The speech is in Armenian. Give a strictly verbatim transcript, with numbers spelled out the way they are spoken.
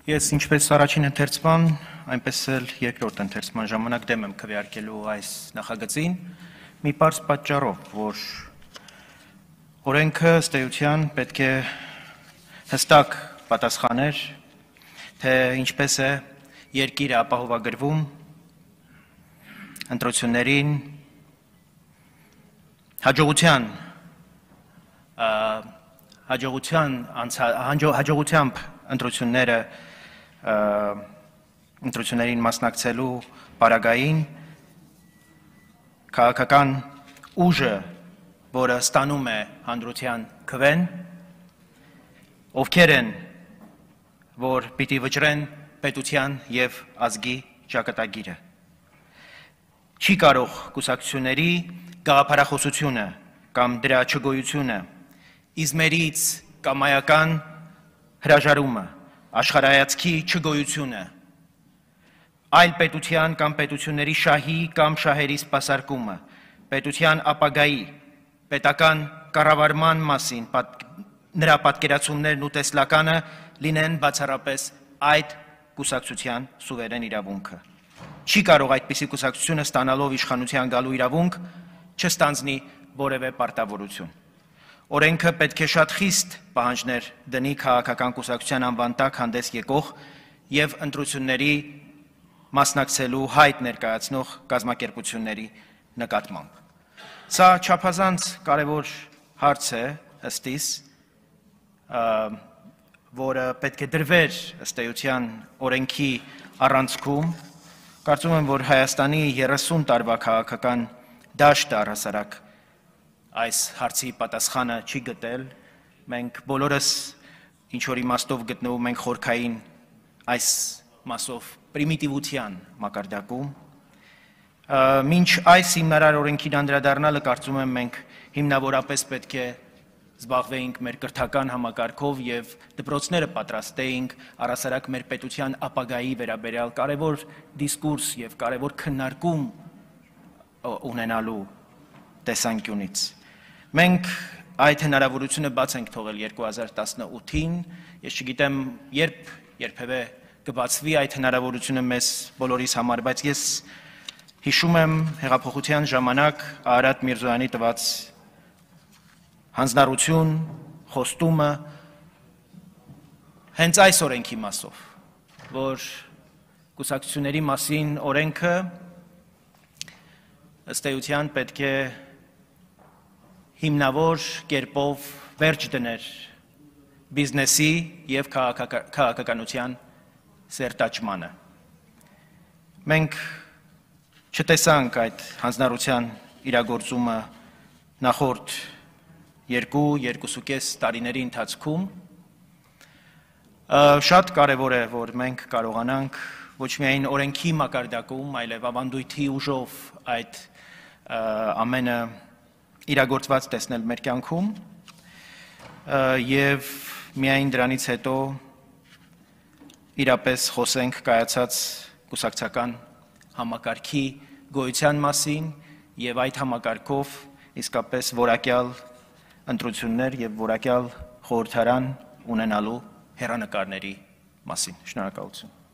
Ես ինչպես առաջին ընթերցման, այնպես էլ երկրորդ ընթերցման ժամանակ դեմ եմ քվեարկելու այս նախագծին, մի պարզ պատճառով, որ օրենքը ըստ էության պետք է հստակ պատասխաներ, թե ինչպես է երկիրը ապահովագրվում ընտրություններին հաջողության հաջողության հաջողությամբ ընտրությունները ընտրություններին մասնակցելու պարագային քաղաքական ուժը, որը ստանում է հանրության քվեն, ովքեր են, որ պիտի վճռեն պետության և ազգի ճակատագիրը։ Չի կարող կուսակցությունների գաղափարախոսությունը կամ դրա չգոյությունը, իզմերից կամայական հրաժարումը, աշխարհայացքի չգոյությունը, այլ պետության կամ պետությունների շահի կամ շահերի սպասարկումը, պետության ապագայի, պետական կառավարման մասին նրա պատկերացումներն ու տեսլականը լինեն բացառապես այդ կուսակցության սուվերեն իրավունքը։ Չի կարող այդպիսի կուսակցությունը ստանալով իշխանության գալու իրավունք չստանձնի որևէ պարտավորություն։ Օրենքը պետք է շատ խիստ պահանջներ դնի քաղաքական կուսակցության անվան տակ հանդես եկող և ընտրությունների մասնակցելու հայտ ներկայացնող կազմակերպությունների նկատմամբ։ Սա չափազանց կարևոր հարց է ըստիս, որը պետք է դրվեր ըստ էության օրենքի առանցքում։ Կարծում եմ, որ Հայաստանի երեսուն տարվա քաղաքական դաշտը առհասարակ այս հարցի պատասխանը չի գտել, մենք բոլորս ինչ-որ իմաստով գտնվում ենք խորքային այս մասով պրիմիտիվության մակարդակում։ Մինչ այս հիմնարար օրենքին անդրադառնալը կարծում եմ մենք հիմնավորապես պետք է զբաղվեինք մեր կրթական համակարգով և դպրոցները պատրաստեինք առհասարակ մեր պետության ապագայի վերաբերյալ կարևոր դիսկուրս և կարևոր քննարկում ունենալու տեսանկյունից։ Մենք այդ հնարավորությունը բաց ենք թողել երկու հազար տասնութին, ես չգիտեմ երբ երբևէ կբացվի այդ հնարավորությունը մեզ բոլորիս համար, բայց ես հիշում եմ հեղափոխության ժամանակ Արարատ Միրզոյանի տված հանձնառություն, խոստումը հենց այս օրենքի մասով, որ կուսակցությունների մասին օրենքը ըստ էության պետք է հիմնավոր կերպով վերջ դներ բիզնեսի և քաղաքականության սերտաճմանը։ Մենք չտեսանք այդ հանձնառության իրագործումը նախորդ երկու, երկուսուկես տարիների ընթացքում։ Շատ կարևոր է, որ մենք կարողանանք ոչ միայն օրենքի մակարդակում, այլև ավանդույթի ուժով այդ ամենը իրագործված տեսնել մեր կյանքում և միայն դրանից հետո իրապես խոսենք կայացած կուսակցական համակարգի գոյության մասին և այդ համակարգով իսկապես որակյալ ընտրություններ և որակյալ խորհրդարան ունենալու հեռանկարների մասին։ Շնորհակալություն։